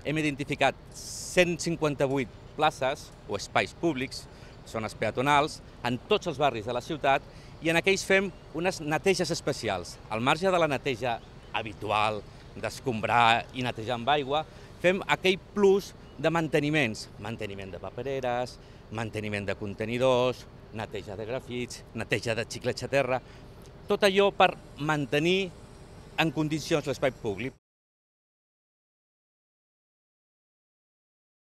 Hem identificat 158 places o espais públics, zones peatonals, en tots els barris de la ciutat, i en aquells fem unes neteges especials. Al marge de la neteja habitual, d'escombrar i netejar amb aigua, fem aquell plus de manteniments, manteniment de papereres, manteniment de contenidors, neteja de grafits, neteja de xiclets a terra, tot allò per mantenir en condicions l'espai públic.